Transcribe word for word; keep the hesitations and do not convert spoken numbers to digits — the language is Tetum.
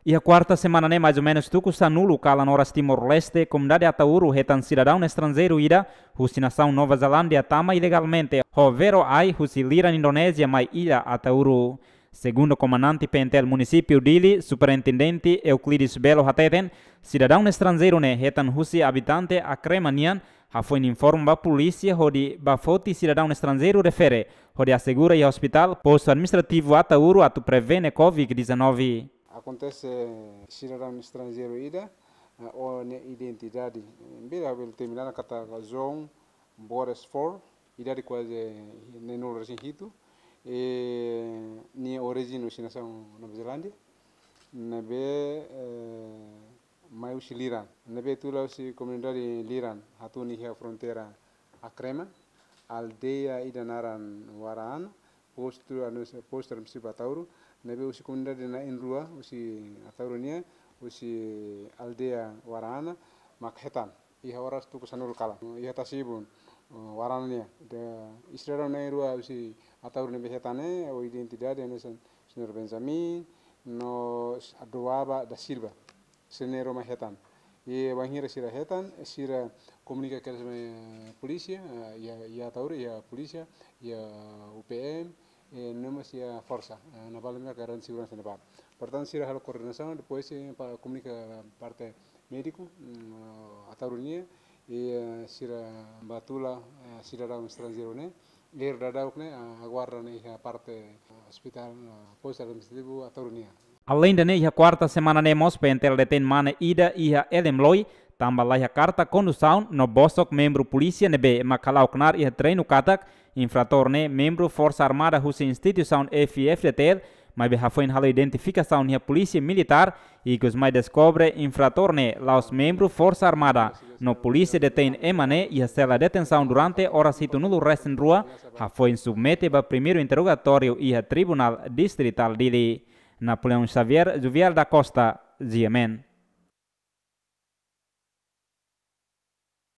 Iha kuarta semana ne'e, mais ou menus tuku sanulu kalan oras Timor-Leste, komunidade Ataúru hetan sidadaun estranjeiru ida husi nasaun Nova Zelándia tama ilegalmente ho vero ai husi liran Indonézia mai illa Ataúru. Segundu komandante P N T L munisípiu Dili, Superintendente Euclides Belo hateten, sidadaun estranjeiru ne'e hetan husi abitante Akrema nian, hafoin informa ba polísia hodi bá foti sidadaun estranjeiru refere hodi asegura iha ospitál postu administrativu Ataúru atu prevene covid dezanove. Akontese sidadaun estranjeiru ida, eh, ho nia identidade, eh, bele, bele determina katak João Borges Four, idade kuaze neenulu resin hitu, eh, nia orijen husi nasaun Nova Zelándia, ne'ebé, eh, mai husi liran. Ne'ebé tula husi komunidade liran, hatún iha fronteira Akrema, aldeia ida naran Waraana, postu anu, postu administrativu Ataúru, ne'ebé husi komunidade na'in-rua, husi Ataúru nian, husi aldeia Waraana, mak hetan iha oras tuku sanulu kalan. Iha tasi-ibun, eh, Waraana nian. Ida, sidadaun na'in-rua husi Ataúru ne'ebé hetan ne'e, ho identidade hanesan Señór Benjamin, no Adoaba da Silva. Sira na'in-rua mak hetan. I bainhira sira hetan, sira komunika kedas mai polísia, eh, iha, iha Ataúru, iha polísia, iha U P M, eh, no mós iha forsa, eh, naval, maka garantia seguransa naval. Portantu, sira halo koordenasaun, depois, eh, para komunika parte médiku, mm, Ataúru nian, i, eh, sira bá tula, eh, sidadaun estranjeiru ne'e, i daudaun ne'e, ah, aguarda ne'e iha parte, ah, ospitál, ah, postu administrativu Ataúru nian. Aleinde ne'e, iha kuarta semana ne'e mós P N T L detein mane ida iha Elemloi, tanba laiha karta kondusaun no bosok membru polísia ne'ebé mak hala'o knaar iha treinu katak infratór ne'e membru Forsa Armada husi instituisaun F I F D T L, maibé hafoin halo identifikasaun iha polísia militár, ikus mai deskobre infratór ne'e la'ós membru Forsa Armada, no polísia detein ema ne'e iha sela detensaun durante oras hitunulu resin rua, hafoin submete ba primeiru interrogatóriu iha Tribunál Distritál Dili. Napoleão Xavier, Juvial da Costa, G M N.